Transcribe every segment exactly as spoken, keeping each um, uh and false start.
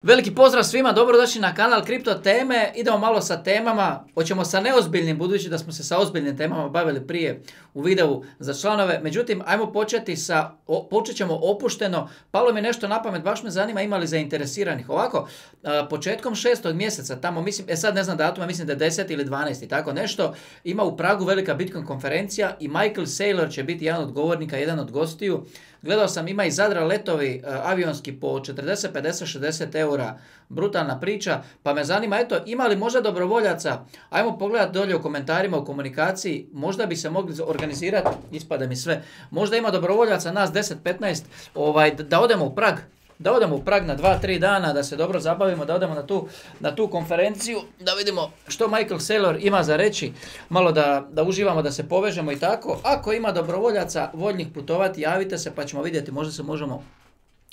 Veliki pozdrav svima, dobrodošli na kanal Kripto teme. Idemo malo sa temama, hoćemo sa neozbiljnim, budući da smo se sa ozbiljnim temama bavili prije u videu za članove. Međutim, ajmo početi sa, o, počet ćemo opušteno. Palo mi nešto na pamet, baš me zanima ima li zainteresiranih. Ovako, a, početkom šestog mjeseca, tamo mislim, e sad ne znam datuma, mislim da je deseti ili dvanaesti, tako nešto, ima u Pragu velika Bitcoin konferencija i Michael Saylor će biti jedan od govornika, jedan od gostiju. Gledao sam, ima iz Zadra letovi uh, avionski po četrdeset, pedeset, šezdeset eura, brutalna priča, pa me zanima, eto, ima li možda dobrovoljaca, ajmo pogledati dolje u komentarima, u komunikaciji, možda bi se mogli organizirati, ispada mi sve, možda ima dobrovoljaca, nas deset, petnaest, ovaj, da odemo u Prag, da odemo u Prag na dva tri dana, da se dobro zabavimo, da odemo na tu, na tu konferenciju, da vidimo što Michael Saylor ima za reći, malo da, da uživamo, da se povežemo i tako. Ako ima dobrovoljaca voljnih putovati, javite se pa ćemo vidjeti, možda se možemo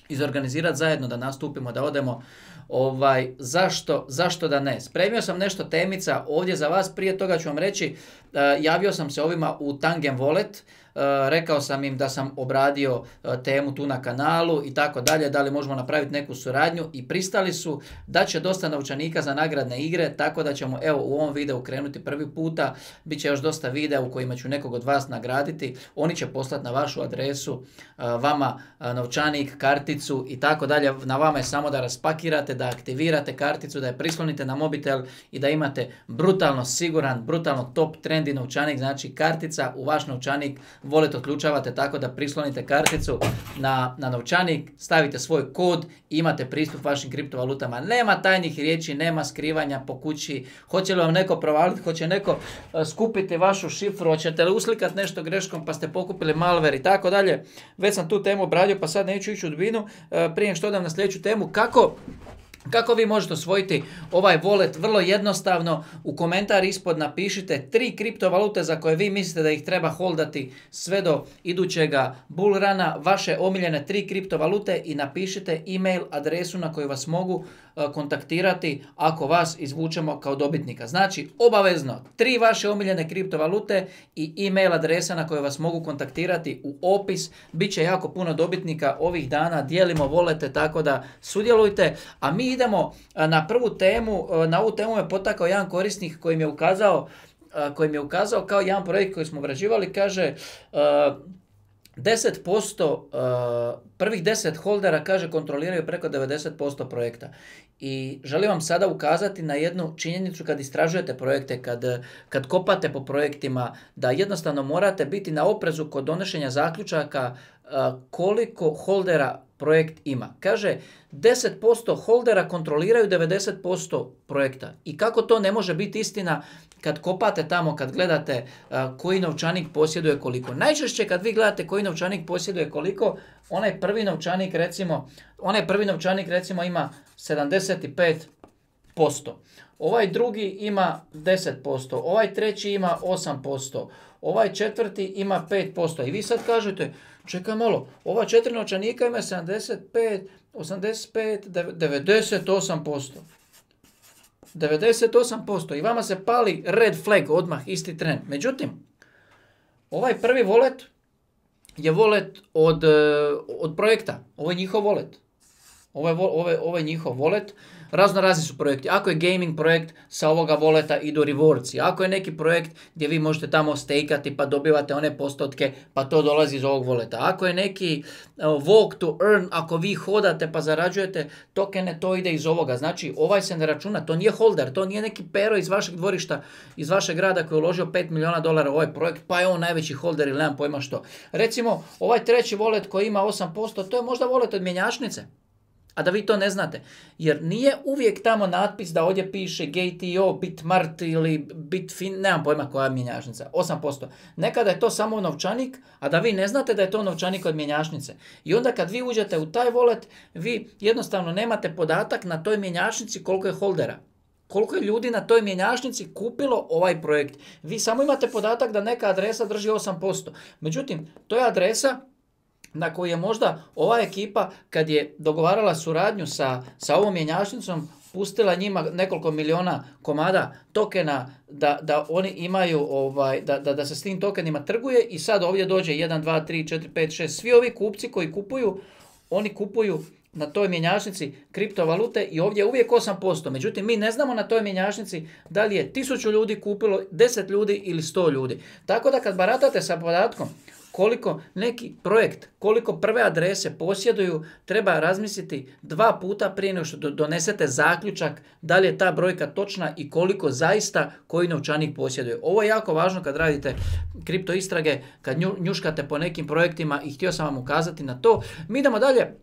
izorganizirati zajedno da nastupimo, da odemo. Ovaj, zašto, zašto da ne? Spremio sam nešto temica ovdje za vas, prije toga ću vam reći, uh, javio sam se ovima u Tangem Wallet, Uh, rekao sam im da sam obradio uh, temu tu na kanalu i tako dalje, da li možemo napraviti neku suradnju i pristali su da će dosta novčanika za nagradne igre, tako da ćemo evo u ovom videu krenuti prvi puta, bit će još dosta videa u kojima ću nekog od vas nagraditi, oni će poslati na vašu adresu uh, vama uh, novčanik, karticu i tako dalje, na vama je samo da raspakirate, da aktivirate karticu, da je prislonite na mobitel i da imate brutalno siguran, brutalno top trendi novčanik, znači kartica u vaš novčanik, wallet otključavate tako da prislonite karticu na, na novčanik, stavite svoj kod i imate pristup vašim kriptovalutama. Nema tajnih riječi, nema skrivanja po kući. Hoće li vam neko provaliti, hoće neko uh, skupiti vašu šifru, hoćete li uslikati nešto greškom pa ste pokupili malware i tako dalje. Već sam tu temu obradio pa sad neću ići u dubinu. Uh, prije što odam na sljedeću temu, kako... Kako vi možete osvojiti ovaj wallet? Vrlo jednostavno, u komentar ispod napišite tri kriptovalute za koje vi mislite da ih treba holdati sve do idućega bull runa, vaše omiljene tri kriptovalute i napišite email adresu na koju vas mogu uh, kontaktirati ako vas izvučemo kao dobitnika. Znači, obavezno, tri vaše omiljene kriptovalute i email adresa na koju vas mogu kontaktirati u opis. Biće jako puno dobitnika ovih dana, dijelimo volete, tako da sudjelujte, a mi idemo na prvu temu. Na ovu temu me potakao jedan korisnik koji mi je ukazao, koji mi je ukazao kao jedan projekt koji smo obrađivali, kaže deset posto, prvih deset holdera, kaže, kontroliraju preko devedeset posto projekta. I želim vam sada ukazati na jednu činjenicu kad istražujete projekte, kad, kad kopate po projektima, da jednostavno morate biti na oprezu kod donošenja zaključaka koliko holdera projekt ima. Kaže, deset posto holdera kontroliraju devedeset posto projekta. I kako to ne može biti istina kad kopate tamo, kad gledate uh, koji novčanik posjeduje koliko. Najčešće kad vi gledate koji novčanik posjeduje koliko, onaj prvi novčanik recimo, onaj prvi novčanik recimo ima sedamdeset pet posto. Ovaj drugi ima deset posto, ovaj treći ima osam posto, ovaj četvrti ima pet posto. I vi sad kažete, čekaj malo, ova četiri novčanika ima sedamdeset pet, osamdeset pet, devedeset osam posto. devedeset osam posto i vama se pali red flag odmah, isti tren. Međutim, ovaj prvi wallet je wallet od, od projekta. Ovo je njihov wallet. Ovo je, ovo je, ovo je njihov wallet. Razno razni su projekti. Ako je gaming projekt, sa ovoga voleta idu rewardsi. Ako je neki projekt gdje vi možete tamo stakati pa dobivate one postotke, pa to dolazi iz ovog voleta. Ako je neki uh, walk to earn, ako vi hodate pa zarađujete tokene, to ide iz ovoga. Znači, ovaj se ne računa, to nije holder, to nije neki pero iz vašeg dvorišta, iz vašeg grada koji je uložio pet milijuna dolara u ovaj projekt, pa je on najveći holder ili nemam pojma što. Recimo, ovaj treći wallet koji ima osam posto, to je možda wallet od mjenjačnice. A da vi to ne znate, jer nije uvijek tamo natpis da ovdje piše G T O, Bitmart ili Bitfin, nemam pojma koja je mjenjačnica, osam posto. Nekada je to samo novčanik, a da vi ne znate da je to novčanik od mjenjačnice. I onda kad vi uđete u taj wallet, vi jednostavno nemate podatak na toj mjenjačnici koliko je holdera. Koliko je ljudi na toj mjenjačnici kupilo ovaj projekt. Vi samo imate podatak da neka adresa drži osam posto. Međutim, to je adresa na koju je možda ova ekipa, kad je dogovarala suradnju sa, sa ovom mjenjačnicom, pustila njima nekoliko miliona komada tokena da, da oni imaju, ovaj, da, da, da se s tim tokenima trguje i sad ovdje dođe jedan, dva, tri, četiri, pet, šest, svi ovi kupci koji kupuju, oni kupuju na toj mjenjačnici kriptovalute i ovdje je uvijek osam posto. Međutim, mi ne znamo na toj mjenjačnici da li je tisuću ljudi kupilo, deset ljudi ili sto ljudi. Tako da kad baratate sa podatkom koliko neki projekt, koliko prve adrese posjeduju, treba razmisliti dva puta prije nego što donesete zaključak da li je ta brojka točna i koliko zaista koji novčanik posjeduje. Ovo je jako važno kad radite kripto istrage, kad njuškate po nekim projektima i htio sam vam ukazati na to. Mi idemo dalje.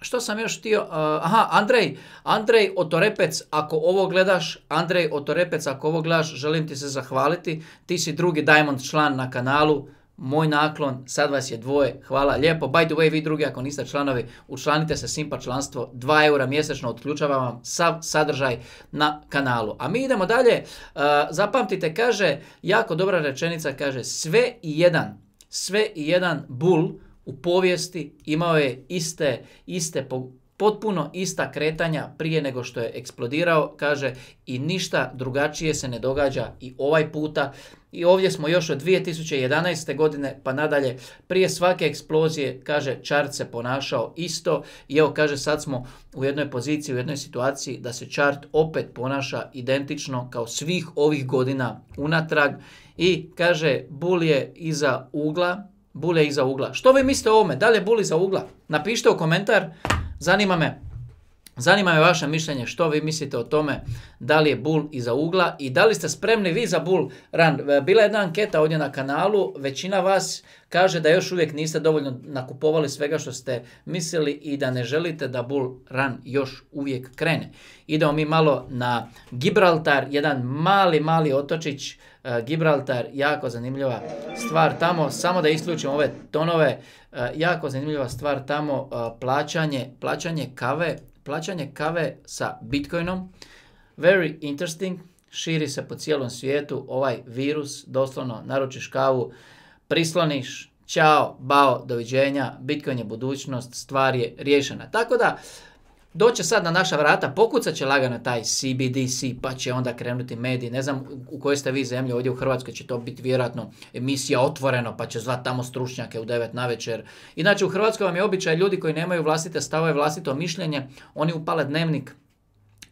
Što sam još htio? Uh, aha, Andrej, Andrej Otorepec, ako ovo gledaš, Andrej Otorepec, ako ovo gledaš, želim ti se zahvaliti. Ti si drugi Diamond član na kanalu. Moj naklon, sad vas je dvoje, hvala lijepo. By the way, vi drugi ako niste članovi, učlanite se Simpa članstvo, dva eura mjesečno, otključava vam sav sadržaj na kanalu. A mi idemo dalje, uh, zapamtite, kaže, jako dobra rečenica, kaže, sve i jedan, sve i jedan bull u povijesti imao je iste, iste potpuno ista kretanja prije nego što je eksplodirao, kaže, i ništa drugačije se ne događa i ovaj puta. I ovdje smo još od dvije tisuće jedanaeste godine pa nadalje, prije svake eksplozije, kaže, chart se ponašao isto i evo, kaže, sad smo u jednoj poziciji, u jednoj situaciji da se chart opet ponaša identično kao svih ovih godina unatrag i kaže, bull je iza ugla, bull je iza ugla. Što vi mislite o ovome? Da li je bull iza ugla? Napišite u komentar, zanima me. Zanima me vaše mišljenje, što vi mislite o tome, da li je bull iza ugla i da li ste spremni vi za bull run. Bila je jedna anketa ovdje na kanalu, većina vas kaže da još uvijek niste dovoljno nakupovali svega što ste mislili i da ne želite da bull run još uvijek krene. Idemo mi malo na Gibraltar, jedan mali, mali otočić, uh, Gibraltar, jako zanimljiva stvar tamo, samo da isključim ove tonove, uh, jako zanimljiva stvar tamo, uh, plaćanje, plaćanje kave, Plaćanje kave sa Bitcoinom, very interesting, širi se po cijelom svijetu ovaj virus, doslovno naručiš kavu, prisloniš, čao, bao, doviđenja, Bitcoin je budućnost, stvar je riješena. Tako da, doće sad na naša vrata, pokucat će lagano taj C B D C, pa će onda krenuti mediji, ne znam u kojoj ste vi zemlji, ovdje u Hrvatskoj će to biti vjerojatno emisija Otvoreno, pa će zvat tamo stručnjake u devet navečer. Inače u Hrvatskoj vam je običaj ljudi koji nemaju vlastite stavove, vlastito mišljenje, oni upale dnevnik,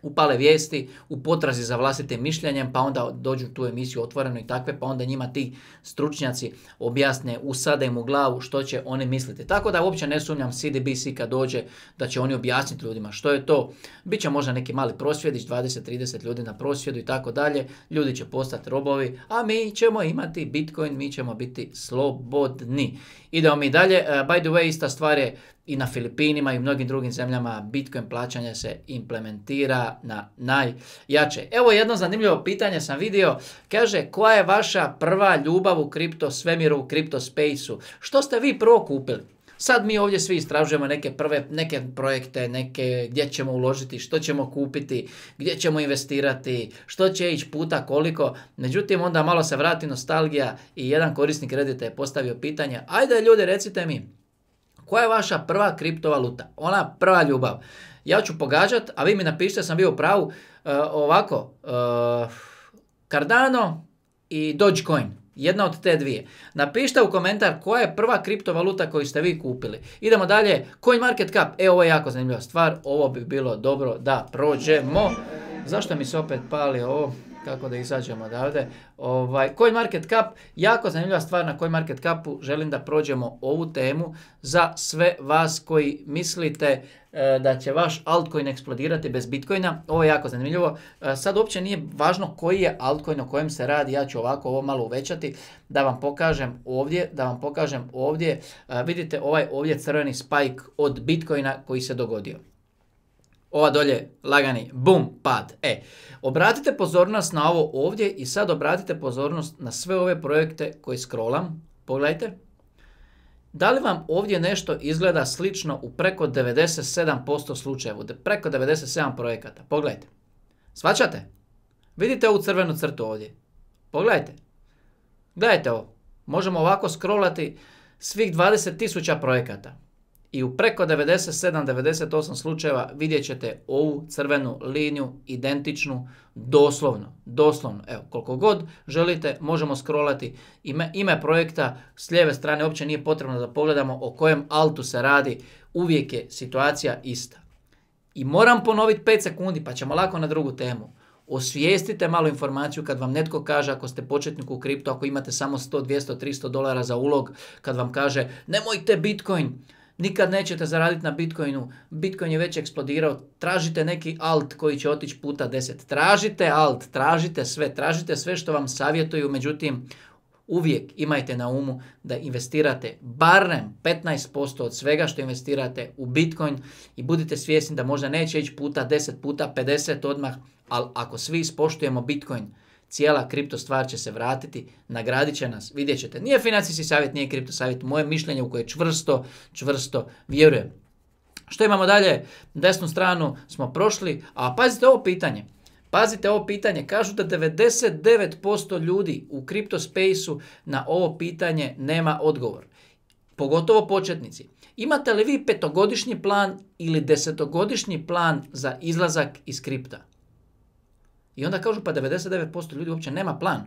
upale vijesti u potrazi za vlastitim mišljenjem, pa onda dođu u tu emisiju Otvoreno i takve, pa onda njima ti stručnjaci objasne, usade im u glavu što će oni misliti. Tako da uopće ne sumnjam C D B C kad dođe da će oni objasniti ljudima što je to. Biće možda neki mali prosvjedić, dvadeset trideset ljudi na prosvjedu i tako dalje. Ljudi će postati robovi, a mi ćemo imati Bitcoin, mi ćemo biti slobodni. Idemo mi dalje. Uh, by the way, ista stvar je i na Filipinima i mnogim drugim zemljama. Bitcoin plaćanje se implementira na najjače. Evo jedno zanimljivo pitanje sam vidio. Kaže, koja je vaša prva ljubav u kripto svemiru, u kripto spaceu? Što ste vi prvo kupili? Sad mi ovdje svi istražujemo neke prve, neke projekte, neke gdje ćemo uložiti, što ćemo kupiti, gdje ćemo investirati, što će ići puta koliko. Međutim, onda malo se vrati nostalgija i jedan korisnik Reddita je postavio pitanje, ajde ljudi recite mi, koja je vaša prva kriptovaluta? Ona prva ljubav. Ja ću pogađat, a vi mi napišite, sam bio u pravu, uh, ovako, uh, Cardano i Dogecoin. Jedna od te dvije. Napišite u komentar koja je prva kriptovaluta koju ste vi kupili. Idemo dalje. CoinMarketCap. E, ovo je jako zanimljiva stvar. Ovo bi bilo dobro da prođemo. Zašto mi se opet pali ovo? Kako da izađemo odavde. Ovaj, CoinMarketCap, jako zanimljiva stvar na CoinMarketCapu. Želim da prođemo ovu temu za sve vas koji mislite e, da će vaš altcoin eksplodirati bez Bitcoina. Ovo je jako zanimljivo. E, sad uopće nije važno koji je altcoin, o kojem se radi. Ja ću ovako ovo malo uvećati da vam pokažem ovdje. Da vam pokažem ovdje. E, vidite ovaj ovdje crveni spike od Bitcoina koji se dogodio. Ova dolje lagani bum pad. E, obratite pozornost na ovo ovdje i sad obratite pozornost na sve ove projekte koje scrollam. Pogledajte. Da li vam ovdje nešto izgleda slično u preko devedeset sedam posto slučajeva? Preko devedeset sedam projekata. Pogledajte. Svaćate? Vidite ovu crvenu crtu ovdje. Pogledajte. Gledajte ovo. Možemo ovako scrollati svih dvadeset tisuća projekata. i u preko devedeset sedam do devedeset osam slučajeva vidjet ćete ovu crvenu liniju identičnu doslovno. Doslovno. Evo, koliko god želite možemo scrollati ime, ime projekta s lijeve strane, uopće nije potrebno da pogledamo o kojem altu se radi, uvijek je situacija ista. I moram ponoviti pet sekundi pa ćemo lako na drugu temu. Osvijestite malo informaciju kad vam netko kaže, ako ste početnik u kriptu, ako imate samo sto, dvjesto, tristo dolara za ulog, kad vam kaže nemojte Bitcoin, nikad nećete zaraditi na Bitcoinu, Bitcoin je već eksplodirao, tražite neki alt koji će otići puta deset. Tražite alt, tražite sve, tražite sve što vam savjetuju, međutim uvijek imajte na umu da investirate barem petnaest posto od svega što investirate u Bitcoin i budite svjesni da možda neće ići puta deset, puta pedeset odmah, ali ako svi ispoštujemo Bitcoin, cijela kripto stvar će se vratiti, nagradit će nas, vidjet ćete. Nije financijski savjet, nije kripto savjet, moje mišljenje u koje čvrsto, čvrsto vjerujem. Što imamo dalje? Desnu stranu smo prošli, a pazite ovo pitanje. Pazite ovo pitanje, kažu da devedeset devet posto ljudi u kripto spaceu na ovo pitanje nema odgovor. Pogotovo početnici. Imate li vi petogodišnji plan ili desetogodišnji plan za izlazak iz kripta? I onda kažu pa devedeset devet posto ljudi uopće nema plan.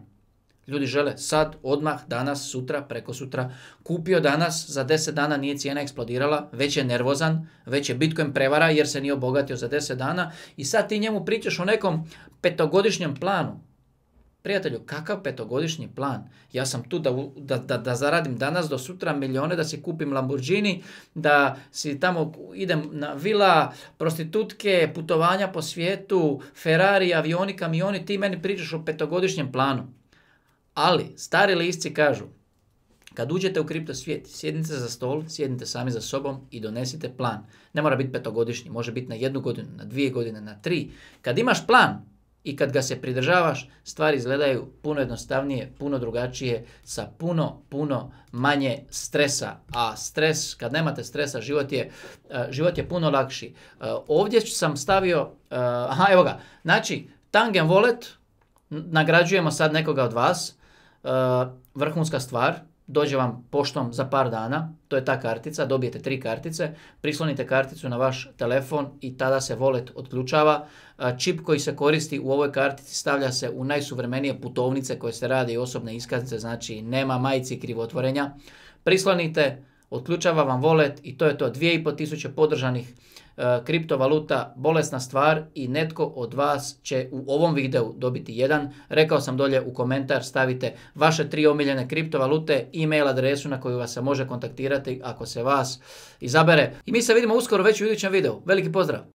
Ljudi žele sad, odmah, danas, sutra, preko sutra. Kupio danas, za deset dana nije cijena eksplodirala, već je nervozan, već je Bitcoin prevara jer se nije obogatio za deset dana i sad ti njemu pričaš o nekom petogodišnjem planu. Prijatelju, kakav petogodišnji plan? Ja sam tu da, da, da, da zaradim danas do sutra milijone, da si kupim Lamborghini, da si tamo idem na vila, prostitutke, putovanja po svijetu, Ferrari, avioni, kamioni, ti meni pričaš o petogodišnjem planu. Ali, stari lisci kažu, kad uđete u kripto svijet, sjednite za stol, sjednite sami za sobom i donesite plan. Ne mora biti petogodišnji, može biti na jednu godinu, na dvije godine, na tri. Kad imaš plan i kad ga se pridržavaš, stvari izgledaju puno jednostavnije, puno drugačije, sa puno, puno manje stresa. A stres, kad nemate stresa, život je, uh, život je puno lakši. Uh, ovdje sam stavio, uh, aha, evo ga, znači, Tangen Wallet, nagrađujemo sad nekoga od vas, uh, vrhunska stvar, dođe vam poštom za par dana, to je ta kartica, dobijete tri kartice, prislonite karticu na vaš telefon i tada se wallet otključava. Čip koji se koristi u ovoj kartici stavlja se u najsuvremenije putovnice koje se rade i osobne iskaznice, znači nema majici krivotvorenja. Prislonite, otključava vam wallet i to je to, dvije i pol tisuće podržanih uh, kriptovaluta, bolesna stvar i netko od vas će u ovom videu dobiti jedan. Rekao sam dolje u komentar, stavite vaše tri omiljene kriptovalute, e-mail adresu na koju vas se može kontaktirati ako se vas izabere. I mi se vidimo uskoro već u idućem videu. Veliki pozdrav!